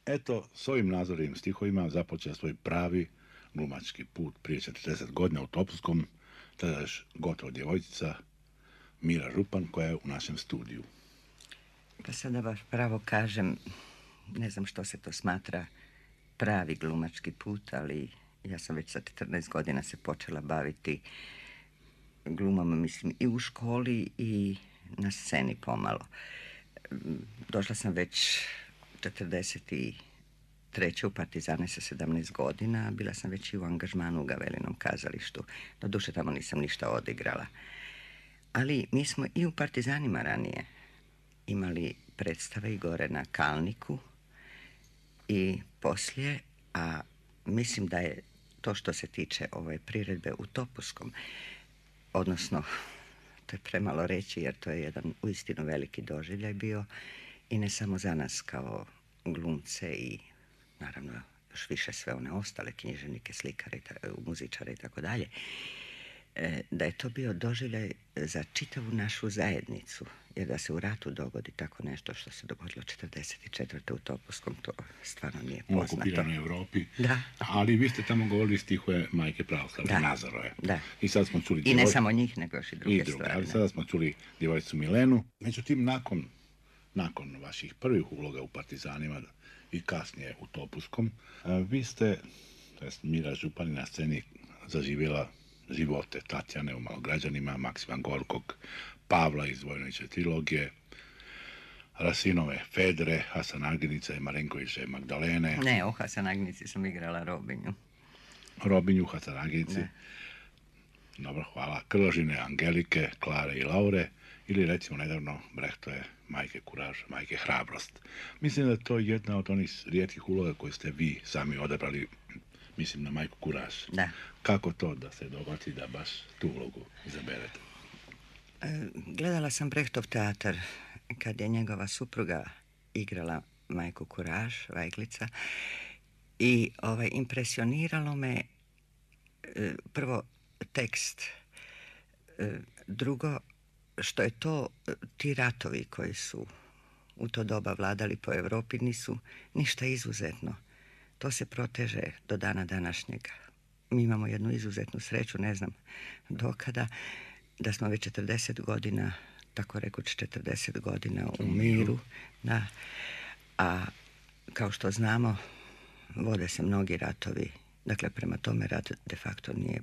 Eto, s ovim nazornim stihovima započeo svoj pravi glumački put prije 40 godina u Topuskom, tada još gotovo djevojčica Mira Župan koja je u našem studiju. Pa sada baš pravo kažem, ne znam što se to smatra pravi glumački put, ali ja sam već sa 14 godina se počela baviti glumama, mislim, i u školi i na sceni pomalo. Došla sam već 43. u Partizane sa 17 godina, bila sam već i u angažmanu u Gavelinom kazalištu. Doduše tamo nisam ništa odigrala. Ali mi smo i u Partizanima ranije imali predstave i gore na Kalniku i poslije, a mislim da je to što se tiče ove priredbe u Topuskom, odnosno, to je premalo reći jer to je jedan uistinu veliki doživljaj bio i ne samo za nas kao glumce i naravno još više sve one ostale književnike, slikare, muzičare i tako dalje, da je to bio doživljaj za čitavu našu zajednicu, jer da se u ratu dogodi tako nešto što se dogodilo 44. u Topuskom, to stvarno nije poznato. U okupiranoj Europi. Da. Ali vi ste tamo govorili stihove Majke Pravoslavne Nazarove. Da. I sad smo čuli i ne samo njih, nego još i druge stvari. Ali sada smo čuli djevojčicu Milenu. Međutim, nakon vaših prvih uloga u Partizanima i kasnije u Topuskom, vi ste, to jest Mira Župan, na sceni zaživjela živote Tatjane u Malograđanima, Maksima Gorkog, Pavla iz Vojnovićeve trilogije, Rasinove Fedre, Hasanaginice, Marenkoviće Magdalene. Ne, u Hasanaginici sam igrala Robinju, Hasanaginici. Dobro, hvala. Krložine Angelike, Klare i Laure, ili recimo nedavno Brechtove Majke Kuraž, Majke Hrabrost. Mislim da je to jedna od onih rijetkih uloga koje ste vi sami odabrali, mislim na Majku Kuraž. Da. Kako to da se dogodi da baš tu ulogu izaberete? Gledala sam Brechtov teatar kad je njegova supruga igrala Majku Kuraž, Vajglica, i impresioniralo me prvo tekst, drugo što je to, ti ratovi koji su u to doba vladali po Europi nisu ništa izuzetno. To se proteže do dana današnjega. Mi imamo jednu izuzetnu sreću, ne znam dokada, da smo već 40 godina, tako rekuć 40 godina u miru. Da. A kao što znamo, vode se mnogi ratovi. Dakle, prema tome rat de facto nije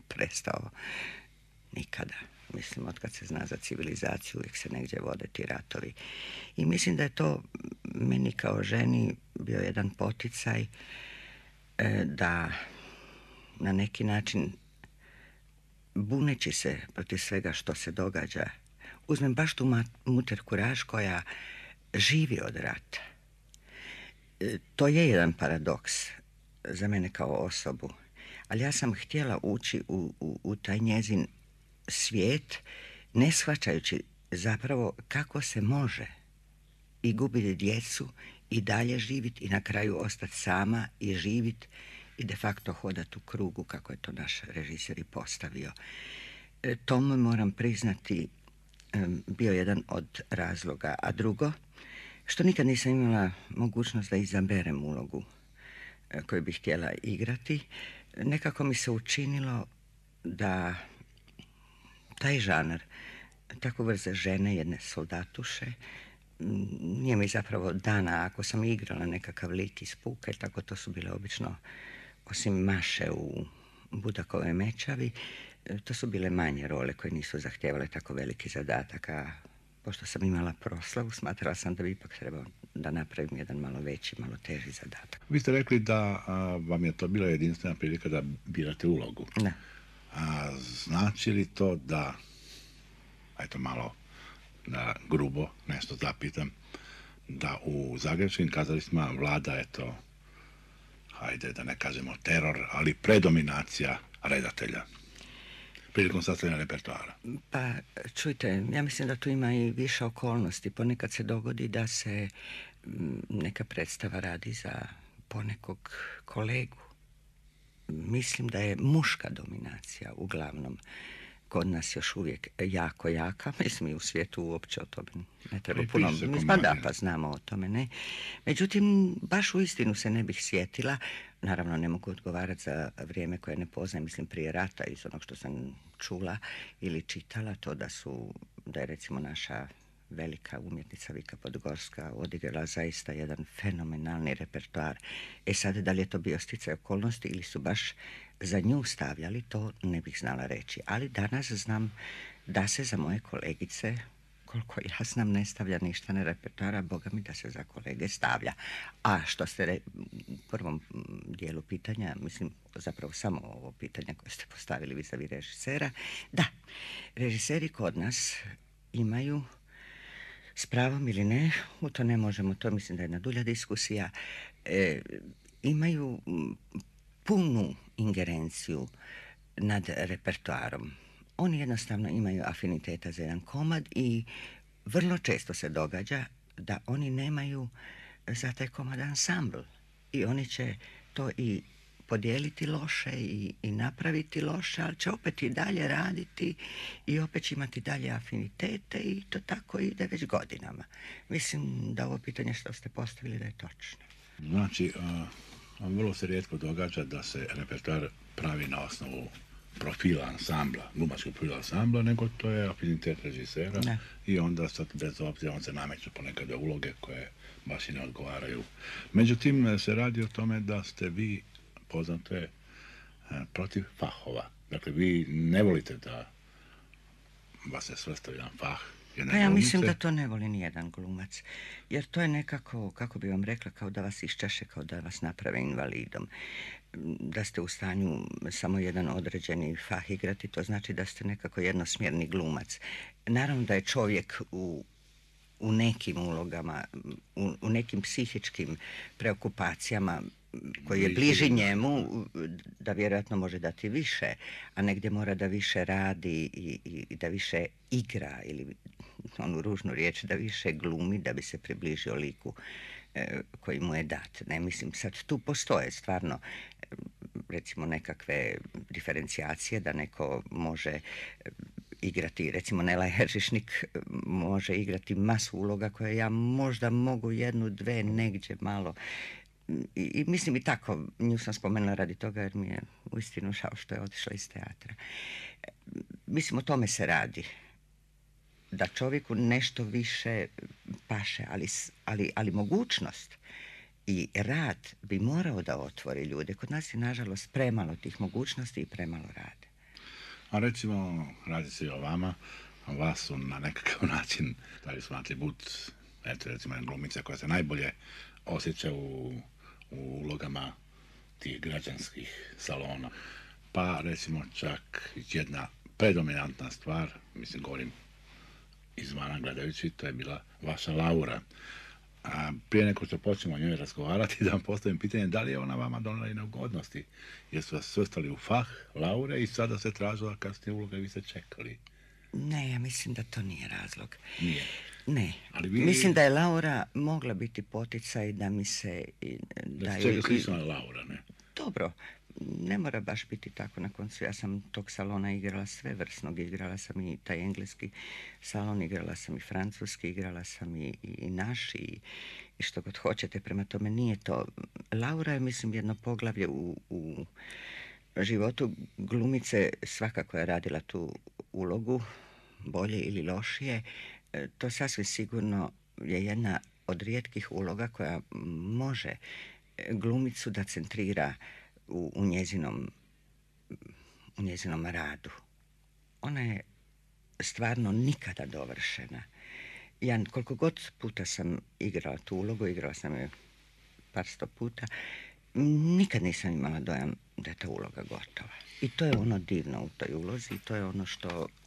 prestao nikada. Mislim, otkad se zna za civilizaciju, uvijek se negdje vode ti ratovi. I mislim da je to meni kao ženi bio jedan poticaj da na neki način, buneći se protiv svega što se događa, uzmem baš tu Mutter Kuraž koja živi od rata. To je jedan paradoks za mene kao osobu, ali ja sam htjela ući u taj njezin svijet, ne shvaćajući zapravo kako se može i gubiti djecu i dalje živjeti i na kraju ostati sama i živjeti i de facto hodati u krugu, kako je to naš režiser i postavio. To mu, moram priznati, bio jedan od razloga. A drugo, što nikad nisam imala mogućnost da izaberem ulogu koju bih htjela igrati, nekako mi se učinilo da taj žanr, tako vrste žene, jedne soldatuše, nije mi zapravo dana. Ako sam igrala nekakav lik iz puka i tako, to su bile obično, osim Maše u Budakove Mečavi, to su bile manje role koje nisu zahtijevale tako veliki zadatak, a pošto sam imala proslavu, smatrala sam da bi ipak trebao da napravim jedan malo veći, malo teži zadatak. Vi ste rekli da vam je to bila jedinstvena prilika da birate ulogu. Da. Znači li to da, eto malo da grubo nešto zapitam, da u zagrebačkim kazalištima vlada, eto, hajde da ne kažemo teror, ali predominacija redatelja prilikom sastavljanja repertoara? Pa, čujte, ja mislim da tu ima i više okolnosti. Ponekad se dogodi da se neka predstava radi za ponekog kolegu. Mislim da je muška dominacija uglavnom kod nas još uvijek jako jaka, mislim i u svijetu uopće o tome ne treba I puno, piše se pa komadi. da, pa znamo o tome, ne. Međutim, baš u istinu se ne bih sjetila, naravno ne mogu odgovarati za vrijeme koje ne poznajem, mislim prije rata, iz onog što sam čula ili čitala, to da je recimo naša velika umjetnica Vika Podgorska odigrala zaista jedan fenomenalni repertoar. E sad, da li je to bio sticaj okolnosti ili su baš za nju stavljali, to ne bih znala reći. Ali danas znam da se za moje kolegice, koliko ja znam, ne stavlja ništa na repertoara, boga mi da se za kolege stavlja. A što ste u prvom dijelu pitanja, mislim zapravo samo ovo pitanje koje ste postavili vis-a-vis režisera, da, režiseri kod nas imaju, s pravom ili ne, u to ne možemo, to mislim da je jedna dulja diskusija, imaju punu ingerenciju nad repertoarom. Oni jednostavno imaju afiniteta za jedan komad i vrlo često se događa da oni nemaju za taj komad ansambl. I oni će to i podijeliti loše i napraviti loše, ali će opet i dalje raditi i opet će imati dalje afinitete i to tako ide već godinama. Mislim da ovo pitanje što ste postavili da je točno. Znači, vrlo se rijetko događa da se repertoar pravi na osnovu profila ansambla, glumačkog profila ansambla, nego to je afinitet režisera. Ne. I onda sad bez obzira on se nameću ponekada uloge koje baš i ne odgovaraju. Međutim, se radi o tome da ste vi poznate protiv fahova. Dakle, vi ne volite da vas se svrstavi jedan fah. Pa ja mislim da to ne voli nijedan glumac. Jer to je nekako, kako bi vam rekla, kao da vas iščaše, kao da vas naprave invalidom. Da ste u stanju samo jedan određeni fah igrati, to znači da ste nekako jednosmjerni glumac. Naravno da je čovjek u nekim ulogama, u nekim psihičkim preokupacijama koji je bliži njemu, da vjerojatno može dati više, a negdje mora da više radi i da više igra, ili onu ružnu riječ, da više glumi, da bi se približio liku koji mu je dat. Ne, mislim, sad tu postoje stvarno recimo nekakve diferencijacije da neko može igrati, recimo Nela Heržišnik može igrati masu uloga koje ja možda mogu jednu, dve, negdje malo. I mislim i tako, nju sam spomenula radi toga jer mi je uistinu žao što je otišla iz teatra. Mislim, o tome se radi. Da čovjeku nešto više paše, ali mogućnost i rad bi morao da otvori ljude. Kod nas je, nažalost, premalo tih mogućnosti i premalo rade. A recimo, radi se i o vama, vas su na nekakav način, da li su atribut, eto recimo jedna glumica koja se najbolje osjeća u ulogama tih građanskih salona. Pa recimo čak jedna predominantna stvar, mislim govorim izvana gledajući, to je bila vaša Laura. A prije nego što počnemo o njoj razgovarati, da vam postavim pitanje da li je ona vama donela i neugodnosti, jer su vas svrstali u fah Laure i sada se tražila kasnije uloga i vi ste čekali. Ne, ja mislim da to nije razlog. Nije? Ne. Mislim da je Laura mogla biti poticaj da mi se... Da se čega slično je Laura, ne? Dobro, ne mora baš biti tako. Na koncu ja sam tog salona igrala svevrsnog. Igrala sam i taj engleski salon, igrala sam i francuski, igrala sam i naš i što god hoćete. Prema tome nije to... Laura je, mislim, jedno poglavlje u životu glumice, svakako je radila tu ulogu, bolje ili lošije. To sasvim sigurno je jedna od rijetkih uloga koja može glumicu da centrira u njezinom radu. Ona je stvarno nikada dovršena. Ja koliko god puta sam igrala tu ulogu, igrala sam je par sto puta, nikad nisam imala dojam da je ta uloga gotova. I to je ono divno u toj ulozi, to je ono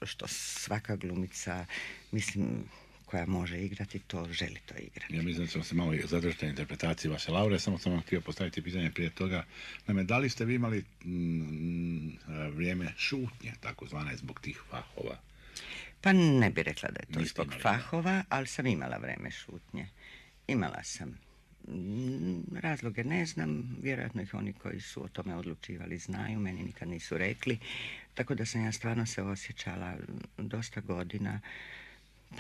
što svaka glumica, mislim, koja može igrati, to želi to igrati. Ja mislim da ćemo se malo zadržati na interpretaciji vaše Laure, samo sam vam htio postaviti pitanje prije toga. Naime, da li ste vi imali vrijeme šutnje, takozvane, zbog tih fahova? Pa ne bi rekla da je to zbog fahova, ali sam imala vrijeme šutnje. Imala sam. Razloge ne znam, vjerojatno ih oni koji su o tome odlučivali znaju, meni nikad nisu rekli, tako da sam ja stvarno se osjećala dosta godina,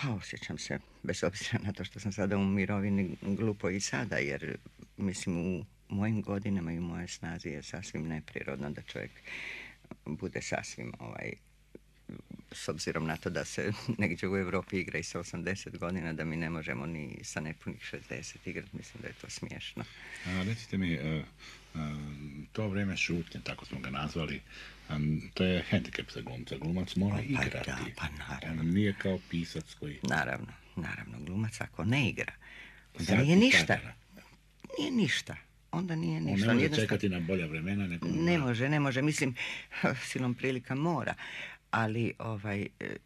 pa osjećam se, bez obzira na to što sam sada u mirovini, glupo i sada, jer mislim u mojim godinama i u mojoj snazi je sasvim neprirodno da čovjek bude sasvim s obzirom na to da se negdje u Europi igra i sa 80 godina, da mi ne možemo ni sa nepunih 60 igrati, mislim da je to smiješno. Recite mi, to vrijeme šutnje, tako smo ga nazvali, to je hendikep za glumca. Glumac mora igrati. Da, pa naravno. On nije kao pisac koji... Naravno, glumac ako ne igra, onda nije ništa. Nije ništa. Onda nije ništa. On ne može čekati na bolja vremena. Ne može. Mislim, silom prilika mora. Ali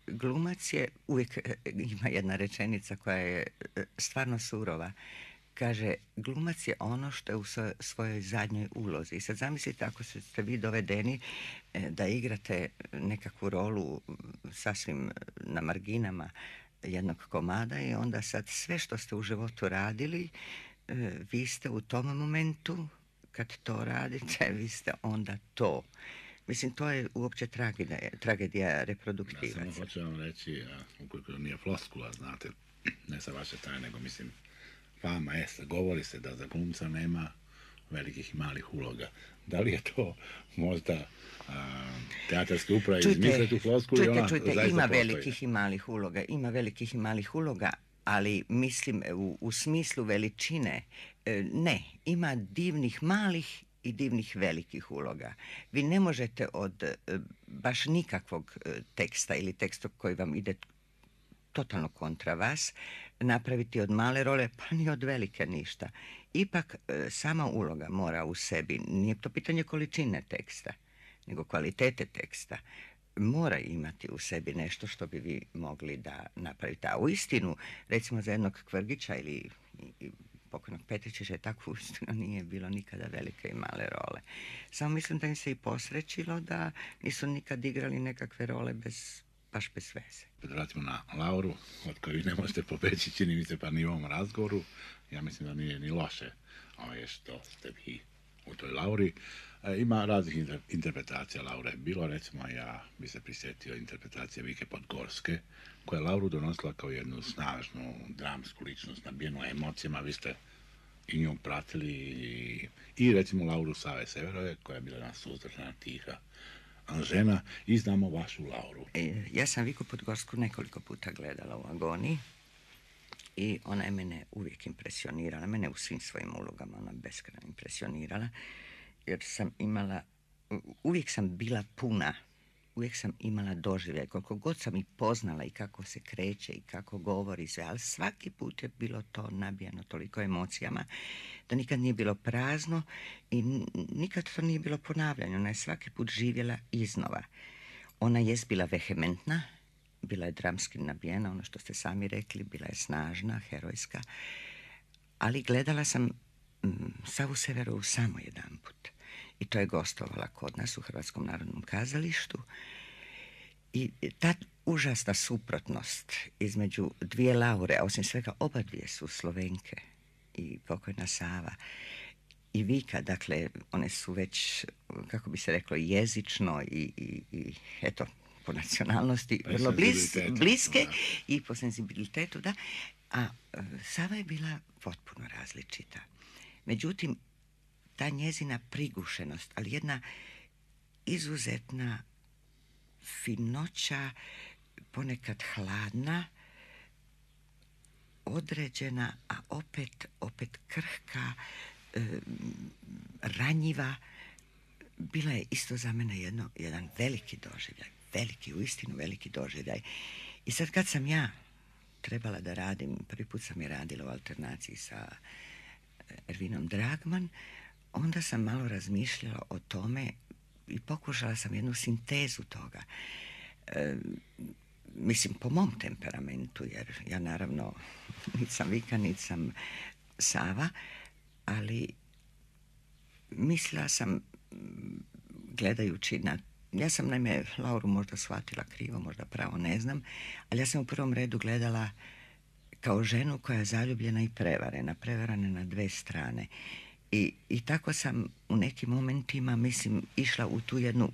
glumac je, uvijek ima jedna rečenica koja je stvarno surova. Kaže, glumac je ono što je u svojoj zadnjoj ulozi. I sad zamislite ako ste vi dovedeni da igrate nekakvu rolu sasvim na marginama jednog komada i onda sad sve što ste u životu radili, vi ste u tom momentu, kad to radite, vi ste onda to. Mislim, to je uopće tragedija reproduktivaca. Ja samo hoću vam reći, ukoliko nije floskula, znate, ne sa vaše strane, nego mislim, fama jest, govori se da za glumca nema velikih i malih uloga. Da li je to možda teatarske uprave izmisle tu floskulu i ona zaista postoji? Ima velikih i malih uloga, ali mislim u smislu veličine, ne, ima divnih malih i divnih velikih uloga. Vi ne možete od baš nikakvog teksta ili teksta koji vam ide totalno kontra vas, napraviti od male role, pa ni od velike ništa. Ipak sama uloga mora u sebi, nije to pitanje količine teksta, nego kvalitete teksta, mora imati u sebi nešto što bi vi mogli da napravite. A u istinu, recimo za jednog Kvrgića ili pokojnog Petričića, tako uistinu nije bilo nikada velike i male role. Samo mislim da im se i posrećilo da nisu nikad igrali nekakve role baš bez veze. Vratimo na Lauru, od koju ne možete pobeći, čini mi se, pa ni u ovom razgovoru. Ja mislim da nije ni loše što ste vi u toj Lauri. Ima raznih interpretacija Laure. Bilo, recimo, ja bi se prisjetio interpretacije Vike Podgorske, koja je Lauru donosila kao jednu snažnu dramsku ličnost, nabijenu emocijama. Vi ste i nju pratili i recimo Lauru Save Severove, koja je bila jedna suzdržana, tiha žena, i znamo vašu Lauru. Ja sam Viku Podgorsku nekoliko puta gledala u Agoniji i ona je mene uvijek impresionirala, mene u svim svojim ulogama ona beskrajno impresionirala, jer sam imala, uvijek sam bila puna, uvijek sam imala doživljaj, koliko god sam i poznala i kako se kreće i kako govori sve, ali svaki put je bilo to nabijano toliko emocijama da nikad nije bilo prazno i nikad to nije bilo ponavljanje. Ona je svaki put živjela iznova. Ona je bila vehementna, bila je dramski nabijena, ono što ste sami rekli, bila je snažna, herojska, ali gledala sam Savu Severovu samo jedanput. I to je gostovala kod nas u Hrvatskom narodnom kazalištu. I ta užasna suprotnost između dvije Laure, a osim svega oba dvije su Slovenke, i pokojna Sava i Vika, dakle, one su već, kako bi se reklo, jezično i eto, po nacionalnosti vrlo bliske i po senzibilitetu, da. A Sava je bila potpuno različita. Međutim, ta njezina prigušenost, ali jedna izuzetna finoća, ponekad hladna, određena, a opet krhka, ranjiva, bila je isto za mene jedan veliki doživljaj, uistinu veliki doživljaj. I sad kad sam ja trebala da radim, prvi put sam je radila u alternaciji sa Ervinom Dragman, onda sam malo razmišljala o tome i pokušala sam jednu sintezu toga. Mislim, po mom temperamentu, jer ja naravno niti sam Vika, niti sam Sava, ali mislila sam, gledajući na... Ja sam naime Lauru možda shvatila krivo, možda pravo, ne znam, ali ja sam u prvom redu gledala kao ženu koja je zaljubljena i prevarena na dve strane. I tako sam u nekim momentima, mislim, išla u tu jednu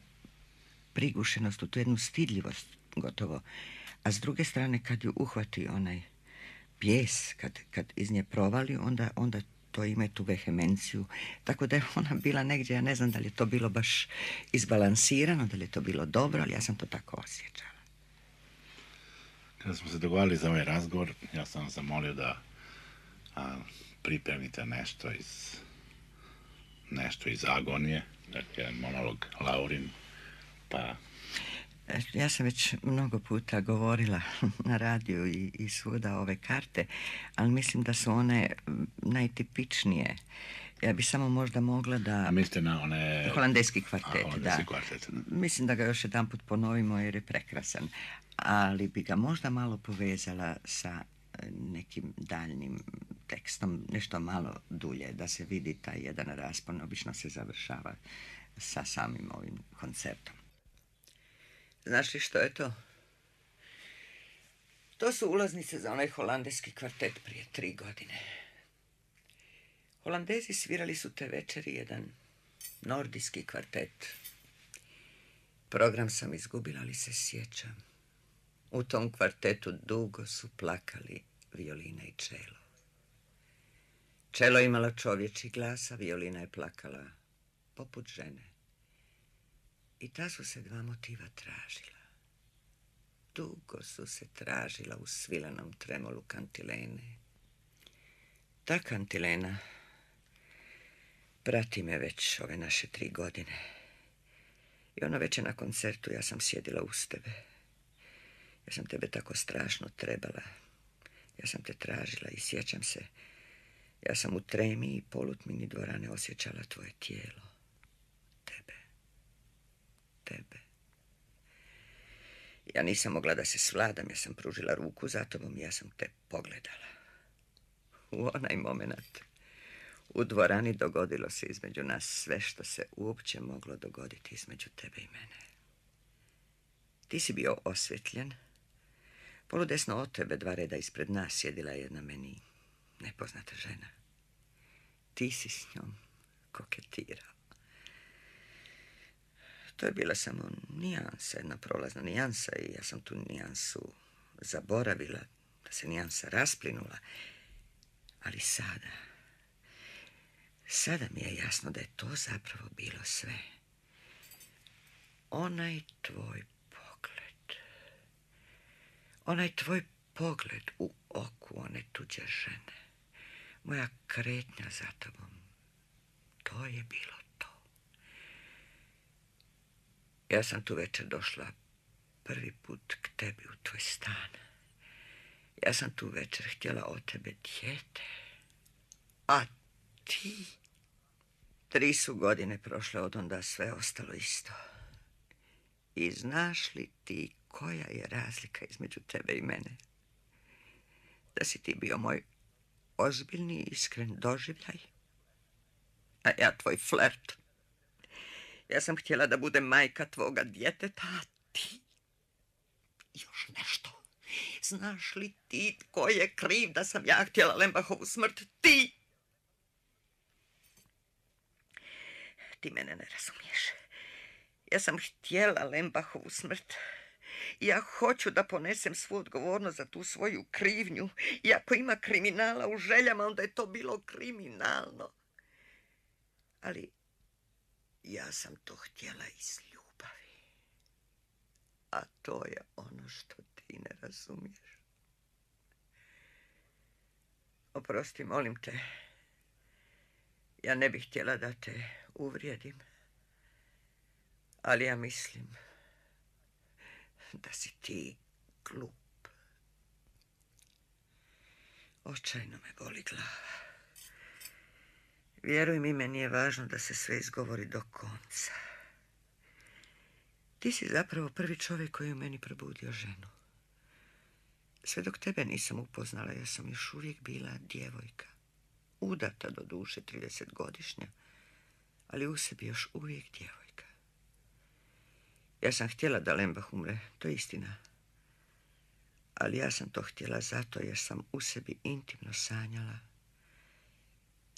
prigušenost, u tu jednu stidljivost gotovo. A s druge strane, kad ju uhvati onaj bijes, kad iz nje provali, onda to ima tu vehemenciju. Tako da je ona bila negdje, ja ne znam da li je to bilo baš izbalansirano, da li je to bilo dobro, ali ja sam to tako osjećala. Kada smo se dogovarali za ovaj razgovor, ja sam vas zamolio da pripremite nešto iz Agonije, dakle jedan monolog Laurin, pa... Ja sam već mnogo puta govorila na radiju i svuda ove karte, ali mislim da su one najtipičnije. Ja bi samo možda mogla da... A mislite na one... Holandejski kvartet, holandejski kvartet, da. Mislim da ga još jedan put ponovimo jer je prekrasan. Ali bi ga možda malo povezala sa nekim daljnim tekstom, nešto malo dulje, da se vidi taj jedan raspon. Obično se završava sa samim ovim koncertom. Znaš li što je to? To su ulaznice za onaj holandejski kvartet prije 3 godine. Holandezi svirali su te večeri jedan nordijski kvartet. Program sam izgubila, ali se sjećam. U tom kvartetu dugo su plakali violina i čelo. Čelo imala čovječji glas, a violina je plakala poput žene. I ta su se dva motiva tražila. Dugo su se tražila u svilenom tremolu kantilene. Ta kantilena prati me već ove naše 3 godine. I ono večer na koncertu ja sam sjedila uz tebe. Ja sam tebe tako strašno trebala. Ja sam te tražila i sjećam se. Ja sam u tremi i polutmini dvorane osjećala tvoje tijelo. Tebe. Ja nisam mogla da se svladam, ja sam pružila ruku za tobom i ja sam te pogledala. U onaj moment u dvorani dogodilo se između nas sve što se uopće moglo dogoditi između tebe i mene. Ti si bio osvjetljen. Poludesno od tebe 2 reda ispred nas sjedila je jedna meni nepoznata žena. Ti si s njom koketirao. To je bila samo nijansa, jedna prolazna nijansa i ja sam tu nijansu zaboravila, da se nijansa rasplinula. Ali sada mi je jasno da je to zapravo bilo sve. Onaj tvoj pogled u oku one tuđe žene, moja kretnja za tobom, to je bilo to. Ja sam tu večer došla prvi put k tebi u tvoj stan. Ja sam tu večer htjela od tebe dijete. A ti? 3 su godine prošle od onda, sve ostalo isto. I znaš li ti koja je razlika između tebe i mene? Da si ti bio moj ozbiljni i iskren doživljaj, a ja tvoj flert. Ja sam htjela da budem majka tvoga djeteta, a ti... Još nešto. Znaš li ti tko je kriv da sam ja htjela Lembachovu smrt? Ti! Ti mene ne razumiješ. Ja sam htjela Lembachovu smrt. Ja hoću da ponesem svu odgovornost za tu svoju krivnju. I ako ima kriminala u željama, onda je to bilo kriminalno. Ali ja sam to htjela iz ljubavi. A to je ono što ti ne razumiješ. Oprosti, molim te. Ja ne bih htjela da te uvrijedim. Ali ja mislim da si ti glup. Očajno me boli glava. Vjeruj mi, meni je važno da se sve izgovori do konca. Ti si zapravo prvi čovjek koji u meni probudio ženu. Sve dok tebe nisam upoznala, ja sam još uvijek bila djevojka. Udata do duše, 30-godišnja, ali u sebi još uvijek djevojka. Ja sam htjela da Lembach umre, to je istina. Ali ja sam to htjela zato jer sam u sebi intimno sanjala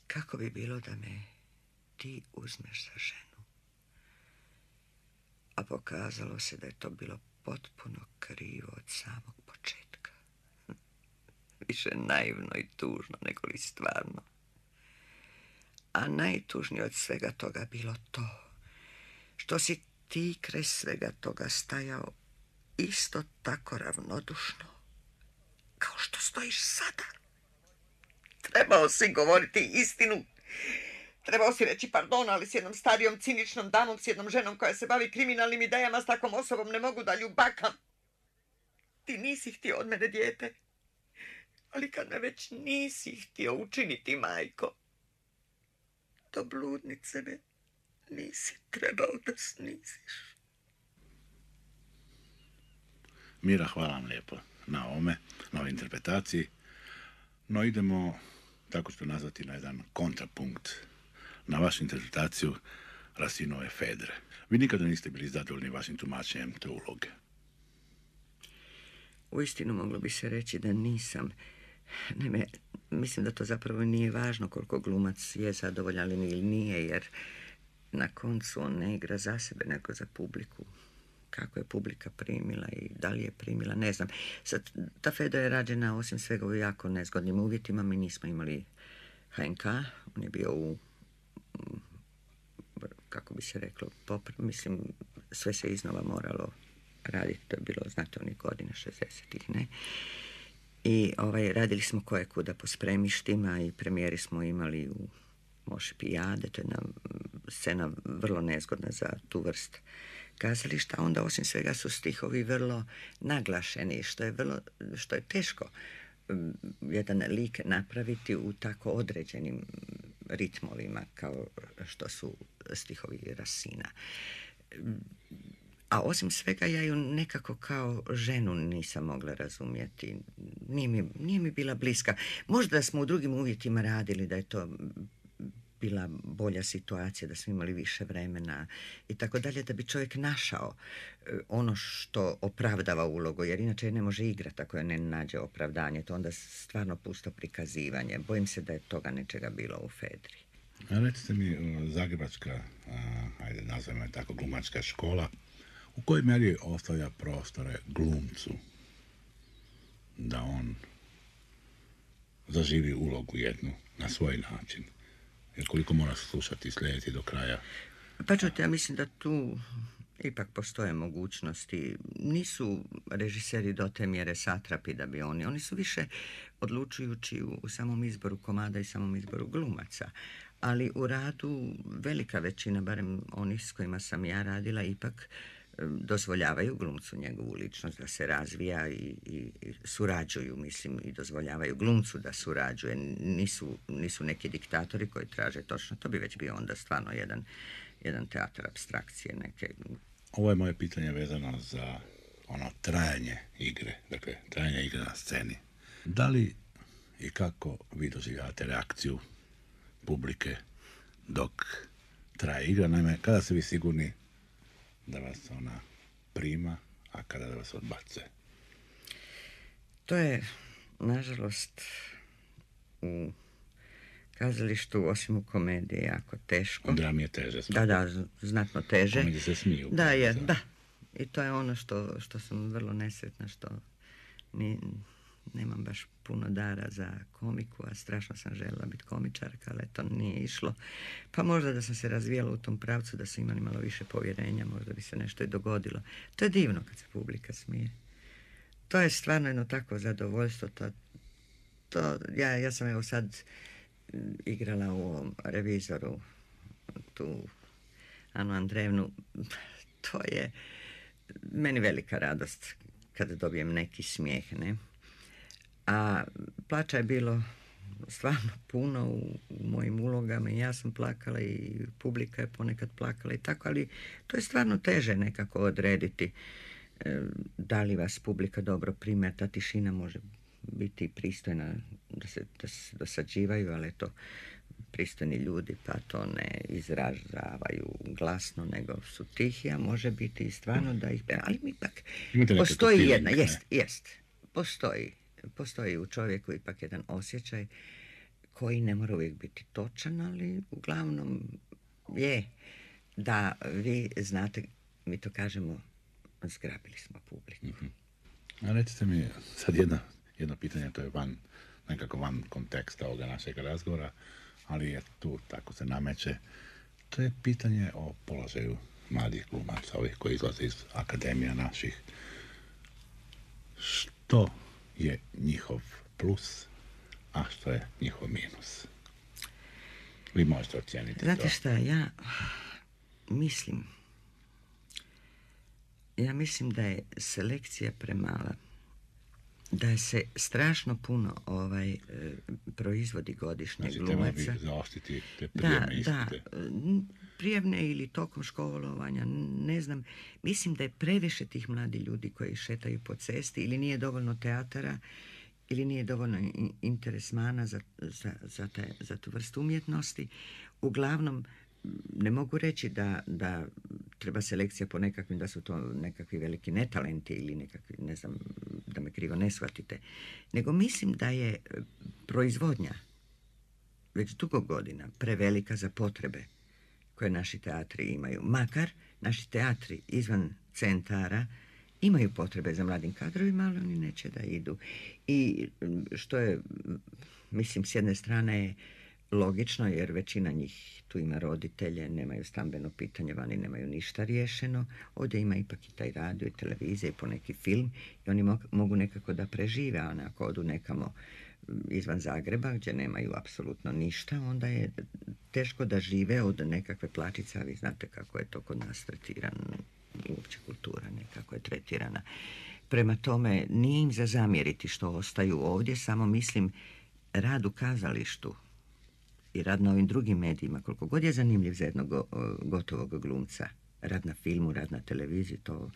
kako bi bilo da me ti uzmeš za ženu. A pokazalo se da je to bilo potpuno krivo od samog početka. Više naivno i tužno nego li stvarno. A najtužnije od svega toga bilo to što si ti kraj svega toga stajao isto tako ravnodušno kao što stojiš sada. Trebao si govoriti istinu. Trebao si reći pardon, ali s jednom starijom, ciničnom damom, s jednom ženom koja se bavi kriminalnim idejama, s takvom osobom ne mogu da ljubakam. Ti nisi htio od mene dijete. Ali kad me već nisi htio učiniti, majko, do bludnice me nisi trebao da sniziš. Mira, hvala vam lijepo na ovome, na ovoj interpretaciji. No idemo, tako ću to nazvati, na jedan kontrapunkt na vašu interpretaciju Racinove Fedre. Vi nikada niste bili zadovoljni vašim tumačenjem te uloge. Uistinu moglo bi se reći da nisam. Naime, mislim da to zapravo nije važno koliko glumac je zadovoljan ili nije, jer na koncu on ne igra za sebe, nego za publiku. Kako je publika primila i da li je primila, ne znam. Sad, ta Fedra je rađena osim svega u jako nezgodnim uvjetima. Mi nismo imali HNK, on je bio u, kako bi se reklo, mislim, sve se iznova moralo raditi. To je bilo, znate, onih godina 60-ih, ne? I radili smo kojekuda po spremištima i premijeri smo imali u Moši Pijade. To je jedna scena vrlo nezgodna za tu vrst kazališta. Onda osim svega su stihovi vrlo naglašeni, što je teško jedan lik napraviti u tako određenim ritmovima kao što su stihovi Racina. A osim svega ja ju nekako kao ženu nisam mogla razumjeti. Nije mi bila bliska. Možda smo u drugim uvjetima radili, da je to bila bolja situacija, da smo imali više vremena i tako dalje, da bi čovjek našao ono što opravdava ulogu, jer inače ne može igrati ako je ne nađe opravdanje. To onda stvarno pusto prikazivanje. Bojim se da je toga nečega bilo u Fedri. Recite mi, zagrebačka, ajde nazvajmo je tako, glumačka škola, u kojoj mjeri ostavlja prostore glumcu da on zaživi ulogu jednu na svoj način? Jer koliko mora slušati i slijediti do kraja? Pa čujte, ja mislim da tu ipak postoje mogućnosti. Nisu režiseri do te mjere satrapi da bi oni su više odlučujući u samom izboru komada i samom izboru glumaca. Ali u radu velika većina, barem onih s kojima sam ja radila, ipak dozvoljavaju glumcu njegovu ličnost da se razvija i surađuju, mislim, i dozvoljavaju glumcu da surađuje. Nisu neki diktatori koji traže točno. To bi već bio onda stvarno jedan teatar apstrakcije neke. Ovo je moje pitanje vezano za ono trajanje igre, dakle trajanje igre na sceni. Da li i kako vi doživljavate reakciju publike dok traje igra? Naime, kada ste vi sigurni da vas ona prima, a kada da vas odbace? To je, nažalost, u kazalištu, osim u komediji, jako teško. U drami je teže. Da, znatno teže. Komediji se smiju. Da. I to je ono što sam vrlo nesretna, što nemam baš puno dara za komiku, a strašno sam željela biti komičarka, ali to nije išlo. Pa možda da sam se razvijala u tom pravcu, da sam imali malo više povjerenja, možda bi se nešto i dogodilo. To je divno kad se publika smije. To je stvarno jedno takvo zadovoljstvo. Ja sam evo sad igrala u ovom Revizoru, tu Anu Andreevnu. To je meni velika radost kada dobijem neki smijeh, ne? A plaća je bilo stvarno puno u mojim ulogama i ja sam plakala i publika je ponekad plakala i tako, ali to je stvarno teže nekako odrediti da li vas publika dobro prime. Ta tišina može biti pristojna, da se dosađivaju, ali to pristojni ljudi pa to ne izražavaju glasno, nego su tihi, a može biti i stvarno da ih... Ali ipak postoji jedna, jest. Postoji u čovjeku ipak jedan osjećaj koji ne mora uvijek biti točan, ali uglavnom je da vi znate, mi to kažemo, zgrabili smo publiku. A recite mi sad jedno pitanje, to je nekako van konteksta ovoga našeg razgovora, ali je tu, tako se nameće. To je pitanje o položaju mladih glumaca, ovih koji izlaze iz akademija naših. Što je njihov plus, a što je njihov minus? Vi možete ocijeniti to. Znate šta, ja mislim da je selekcija premala, da se strašno puno proizvodi godišnje glumaca. Znači, treba bi zaoštiti te prijemne ispite. Prijemne ili tokom školovanja, ne znam. Mislim da je previše tih mladi ljudi koji šetaju po cesti, ili nije dovoljno teatara, ili nije dovoljno interesmana za tu vrstu umjetnosti. Uglavnom, ne mogu reći da treba selekcija po nekakvim, da su to nekakvi veliki netalenti ili nekakvi, ne znam, da me krivo ne shvatite, nego mislim da je proizvodnja već dugo godina prevelika za potrebe koje naši teatri imaju. Makar naši teatri izvan centara imaju potrebe za mladim kadrovima, ali oni neće da idu. I što je, mislim, s jedne strane je logično, jer većina njih tu ima roditelje, nemaju stambeno pitanje, vani nemaju ništa riješeno. Ovdje ima ipak i taj radio i televizija i poneki film i oni mogu nekako da prežive, a ako odu nekamo izvan Zagreba gdje nemaju apsolutno ništa, onda je teško da žive od nekakve plačice, a vi znate kako je to kod nas tretirano i uopće kultura nekako je tretirana. Prema tome, nije im za zamjeriti što ostaju ovdje, samo mislim rad u kazalištu i rad na ovim drugim medijima, koliko god je zanimljiv za jednog gotovog glumca, rad na filmu, rad na televiziji, to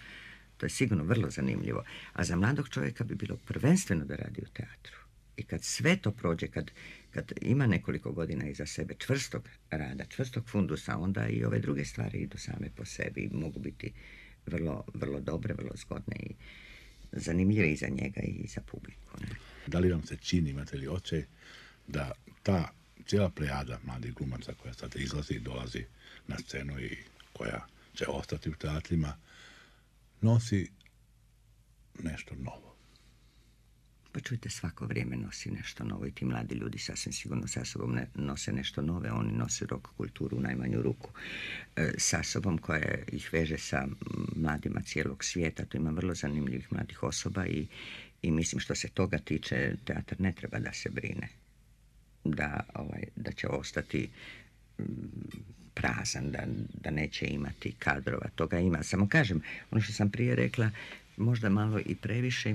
je sigurno vrlo zanimljivo. A za mladog čovjeka bi bilo prvenstveno da radi u teatru. I kad sve to prođe, kad ima nekoliko godina iza sebe čvrstog rada, čvrstog fundusa, onda i ove druge stvari idu same po sebi i mogu biti vrlo, vrlo dobre, vrlo zgodne i zanimljive i za njega i za publiku. Ne? Da li vam se čini, imate li osjećaj da ta cijela plejada mladih glumaca koja sad izlazi i dolazi na scenu i koja će ostati u teatrima, nosi nešto novo? Pa čujte, svako vrijeme nosi nešto novo i ti mladi ljudi sasvim sigurno sa sobom nose nešto nove. Oni nose rock kulturu u najmanju ruku sa sobom koja ih veže sa mladima cijelog svijeta. Tu ima vrlo zanimljivih mladih osoba i mislim što se toga tiče, teatar ne treba da se brine da će ostati prazan, da neće imati kadrova. Toga ima. Samo kažem, ono što sam prije rekla, možda malo i previše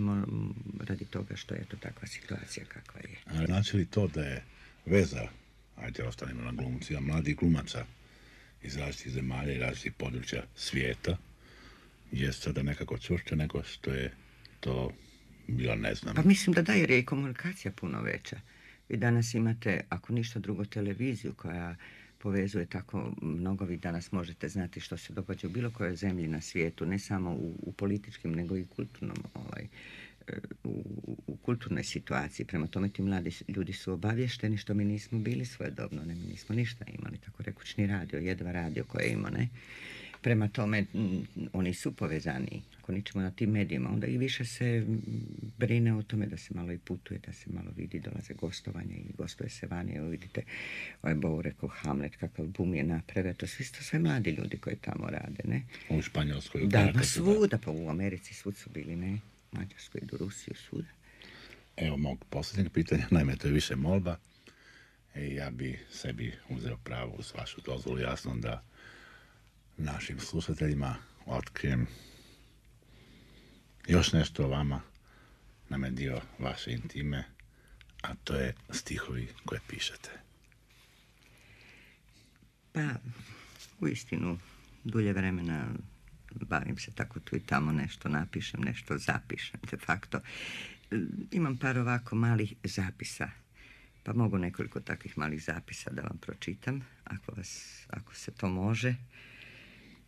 radi toga što je to takva situacija kakva je. A znači li to da je veza, ajde ostanemo na glumcima, mladih glumaca iz različitih zemalja i različitih područja svijeta, je sada nekako čvršća nego što je to bila, ne znam. Pa mislim da jer je i komunikacija puno veća. Vi danas imate, ako ništa drugo, televiziju koja povezuje tako mnogo. Vi danas možete znati što se događa u bilo kojoj zemlji na svijetu, ne samo u političkim, nego i kulturnom, u kulturnoj situaciji. Prema tome ti mladi ljudi su obavješteni, što mi nismo bili svojedobno, mi nismo ništa imali, tako rekućni radio, jedva radio koje imamo, ne? Prema tome, oni su povezani. Ako ničemo na tim medijima, onda i više se brine o tome da se malo i putuje, da se malo vidi, dolaze gostovanja i gostuje se vani. Evo vidite, Bow rekao Hamlet, kakav bum je naprave. To su isto sve mladi ljudi koji tamo rade, ne? U Španjolskoj. Da, pa svuda, pa u Americi svud su bili, ne? Mađarskoj, do Rusiju, svuda. Evo mog posljednjeg pitanja, naime to je više molba. Ja bi sebi uzeo pravo uz vašu dozvolu, jasno da našim slušateljima otkrijem još nešto o vama, nam je dio vaše intime, a to je stihovi koje pišete. Pa, uistinu, dulje vremena bavim se tako tu i tamo, nešto napišem, nešto zapišem, de facto. Imam par ovako malih zapisa, pa mogu nekoliko takvih malih zapisa da vam pročitam, ako se to može.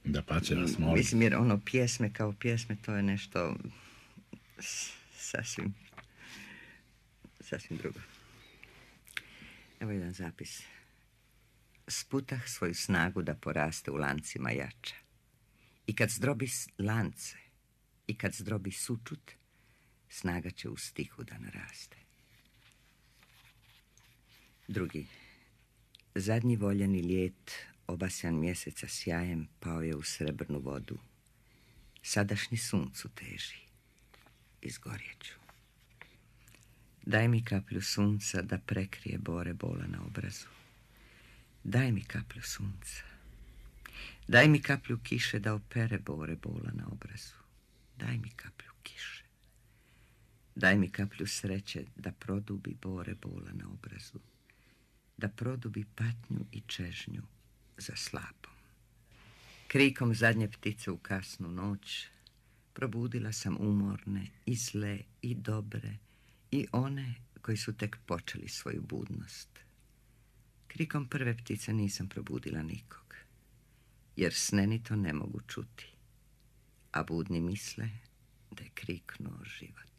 Da pače vas molim. Mislim, jer pjesme kao pjesme, to je nešto sasvim sasvim drugo. Evo jedan zapis. Sputah svoju snagu da poraste u lancima jača. I kad zdrobi lance, i kad zdrobi sučut, snaga će u stihu da naraste. Drugi. Zadnji voljeni ljet, obasjan mjeseca sjajem, pao je u srebrnu vodu. Sadašnji suncu teži. Izgorjeću. Daj mi kaplju sunca da prekrije bore bola na obrazu. Daj mi kaplju sunca. Daj mi kaplju kiše da opere bore bola na obrazu. Daj mi kaplju kiše. Daj mi kaplju sreće da produbi bore bola na obrazu. Da produbi patnju i čežnju za slapom. Krikom zadnje ptice u kasnu noć probudila sam umorne i zle i dobre i one koji su tek počeli svoju budnost. Krikom prve ptice nisam probudila nikog, jer sne ni to ne mogu čuti, a budni misle da je kriknuo život.